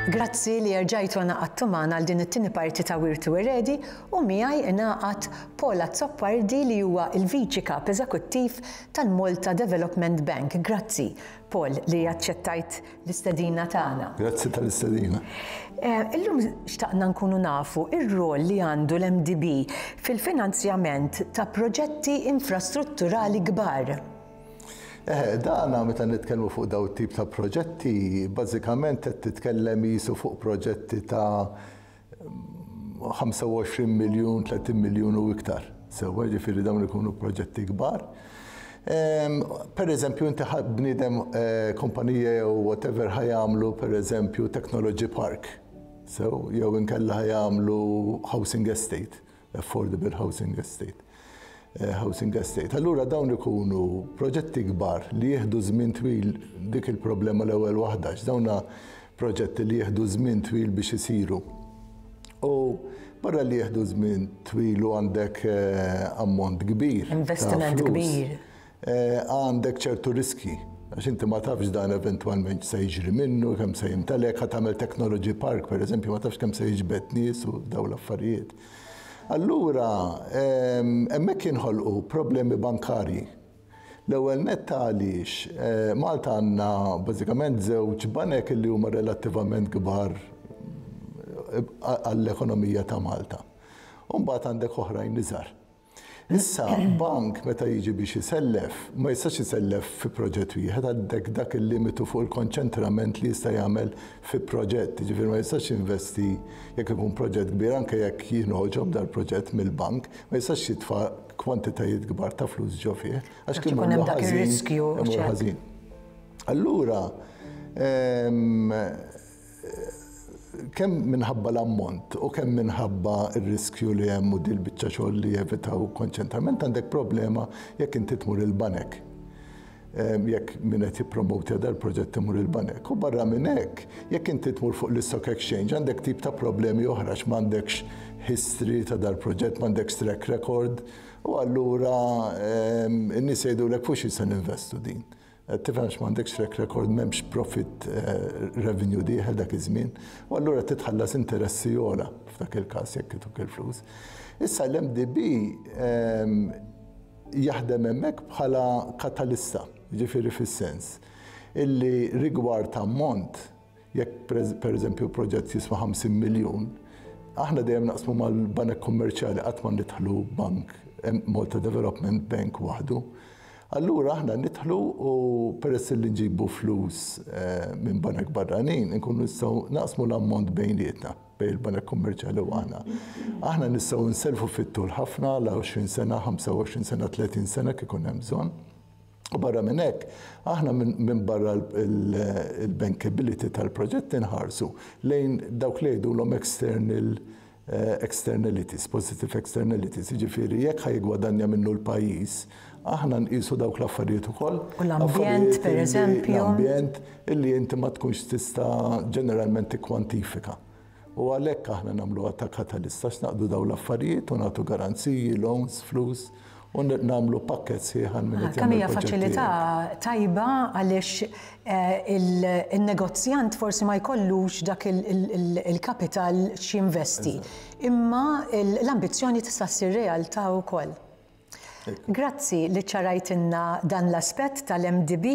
Grazzi li erġajtu ngħaqadtu magħna għal din it-tieni parti ta' Wirtu Eredi u miegħi ingħaqad Paul Azzopardi li huwa l-Viċi Kap Eżekuttiv tal-Malta Development Bank. Grazzi, Paul, li aċċettajt l-istedina tagħna. Grazzi tal-istedina. Illum xtaqna nkunu nafu ir-rol li għandu l-MDB fil-finanzjament ta' proġetti infrastrutturali kbar. Eħe, dana meta nitkellmu fuq daw tip ta' proġetti, bażikament qed titkellem jisu fuq proġetti ta' 25 miljun, 30 miljun u iktar. Sewwa, ġifieri dawn ikunu proġetti kbar. Per eżempju, inti bniedem kumpanija jew whatever ħa jagħmlu per eżempju Technology Park. Sew, jew inkella ħa jagħmlu housing estate, affordable housing estate. Housing estate. Allura dawn ikunu proġetti kbar li jieħdu żmien twil, dik il-problema l-ewwel waħda, dawna proġetti li jieħdu żmien twil biex isiru. U barra li jieħdu żmien twil u għandek ammont kbir. Investiment kbir. Għandek ċertu riski, għax inti ma tafx dan eventwalment se jiġri minnu, kemm se jimtelek, ħa tagħmel technology park, per eżempju, ma tafx kemm se jiġbed nies u daw l-affarijiet. Allura, hemmhekk jinħolqu problemi bankarji. L-ewwel nett għaliex Malta għandna bażikament żewġ banek li huma relattivament kbar għall-ekonomija ta' Malta. U mbagħad għandek oħrajn iżgħar. Issa, bank meta jiġi biex isellef, ma jistax isellef fi proġett wieħed, għandek dak il-limitu fuq il-konċentrament li jista' jagħmel fi proġett. Ġifieri ma jistax jinvesti jekk ikun proġett kbir, anke jekk jingħoġob dal-proġett mill-bank, ma jistax jitfa' kwantitajiet kbar ta' flus ġo fih, għax kien ikun hemm dak ir-riskju. Imur ħażin. Allura, kemm minħabba l-ammont u kemm minħabba r-riskju li hemm u dil-biċċa xogħol li jevitaw konċentrament, għandek problema jekk inti tmur il-banek. Jekk min qed jippromotja dal-proġett imur il-banek. U barra minn hekk, jekk inti tmur fuq l-stock exchange, għandek tip ta' problemi oħra għax m'għandekx history ta' dal-proġett, m'għandekx track record, u allura n-nies jgħidulek fuq xi se ninvestu din. Tifhem għax m'għandekx track record, m'hemmx profit revenue dieħel dak iż-żmien, u allura titħallas interessi ogħla f'dak il-każ jekk ituk il-flus. Issa l-MDB jaħdem hemmhekk bħala katalista, ġifieri fis-sens illi rigward ammont, jekk per eżempju proġett jiswa 50 miljun, aħna dejjem naqsmu mal-banek kummerċjali, qatt ma nidħlu bank Malta Development Bank waħdu. Allura aħna nidħlu u peress li nġibu flus minn banek barranin, nkunu nistgħu naqsmu l-ammont bejnietna, bejn il-banek kummerċjali u aħna. Aħna nistgħu nselfu fit-tul ħafna, la 20 sena, 25 sena, 30 sena kif ikun hemm bżonn. U barra minn hekk, aħna minn barra il-bankability tal-proġett inħarsu lejn dawk li jgħidulhom external externalities, positive externalities, jiġifieri jekk ħa jiggwadanja minnu l-pajjiż, aħna nqisu dawk l-affarijiet ukoll. U l-ambjent, per eżempju. L-ambjent illi inti ma tkunx tista' ġeneralment tikkwantifika. U għalhekk aħna nagħmluha ta' katalista għax naqdu dawn l-affarijiet u nagħtu garanziji, loans, flus, u nagħmlu pakket sħiħ għal min qed Kemm hija jagħmel proġetti. faċilità tajba għaliex il-negozjant forsi ma jkollux dak il-kapital x'jinvesti. Imma l-ambizzjoni tista' ssir realtà wkoll. Grazzi li ċarajtilna dan l-aspett tal-MDB.